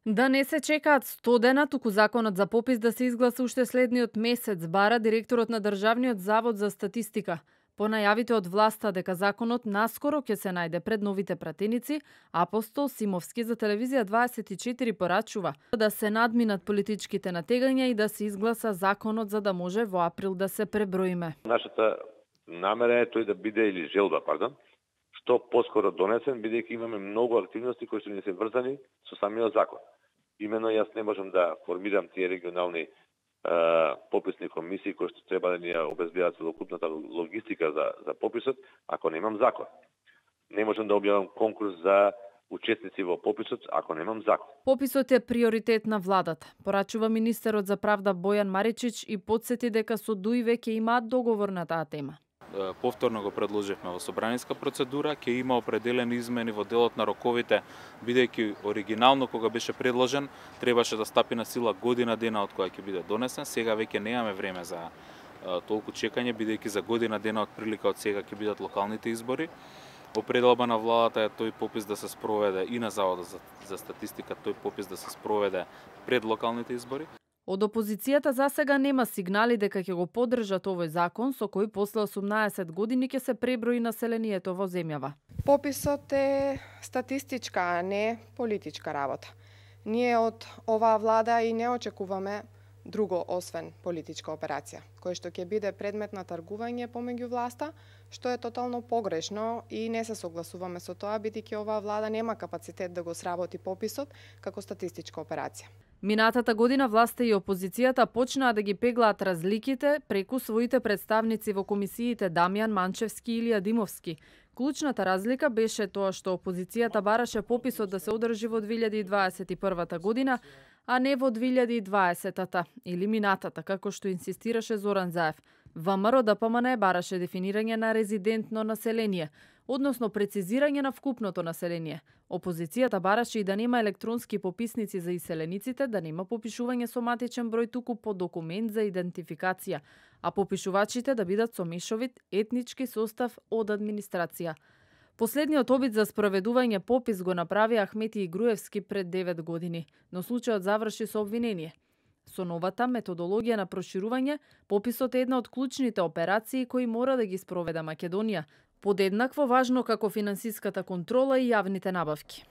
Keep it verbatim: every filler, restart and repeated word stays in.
Да не се чекаат сто дена, туку законот за попис да се изгласа уште следниот месец, бара директорот на Државниот завод за статистика. По најавите од власта дека законот наскоро ќе се најде пред новите пратеници, Апостол Симовски за телевизија дваесет и четири порачува да се надминат политичките натегања и да се изгласа законот за да може во април да се преброиме. Нашата намера е тој да биде, или желба, пардон, што поскоро донесен, бидејќи имаме многу активности кои што не се врзани со самиот закон. Имено јас не можам да формирам тие регионални е, пописни комисии кои што треба да ни ја обезбедат целокупната логистика за, за пописот, ако немам закон. Не можам да објавам конкурс за учесници во пописот ако немам закон. Пописот е приоритет на владата, порачува министерот за правда Бојан Маричич и потсети дека со ДУИ веќе имаат договор на таа тема. Повторно го предложивме во собраниска процедура, ќе има определени измени во делот на роковите, бидејќи оригинално кога беше предложен, требаше да стапи на сила година дена од која ќе биде донесен. Сега веќе немаме време за толку чекање, бидејќи за година дена од прилика од сега ќе бидат локалните избори. Определба на владата е тој попис да се спроведе и на Заводот за, за статистика, тој попис да се спроведе пред локалните избори. Од опозицијата за сега нема сигнали дека ќе го поддржат овој закон со кој после осумнаесет години ќе се преброи населението во земјава. Пописот е статистичка, а не политичка работа. Ние од оваа влада и не очекуваме друго освен политичка операција, кој што ќе биде предмет на тргување помеѓу власта, што е тотално погрешно и не се согласуваме со тоа, бидејќи оваа влада нема капацитет да го сработи пописот како статистичка операција. Минатата година власта и опозицијата почнаа да ги пеглаат разликите преку своите представници во комисиите Дамјан Манчевски и Илија Димовски. Клучната разлика беше тоа што опозицијата бараше пописот да се одржи во две илјади и дваесет и прва година, а не во две илјади и дваесета или минатата, како што инсистираше Зоран Заев. ВМРО Д П М Н бараше дефинирање на резидентно население, односно прецизирање на вкупното население. Опозицијата бараше и да нема електронски пописници за иселениците, да нема попишување со матичен број туку по документ за идентификација, а попишувачите да бидат со мешовит етнички состав од администрација. Последниот обид за спроведување попис го направи Ахмети Игруевски пред девет години, но случајот заврши со обвинение. Со новата методологија на проширување, пописот е една од клучните операции кои мора да ги спроведе Македонија, подеднакво важно како финансиската контрола и јавните набавки.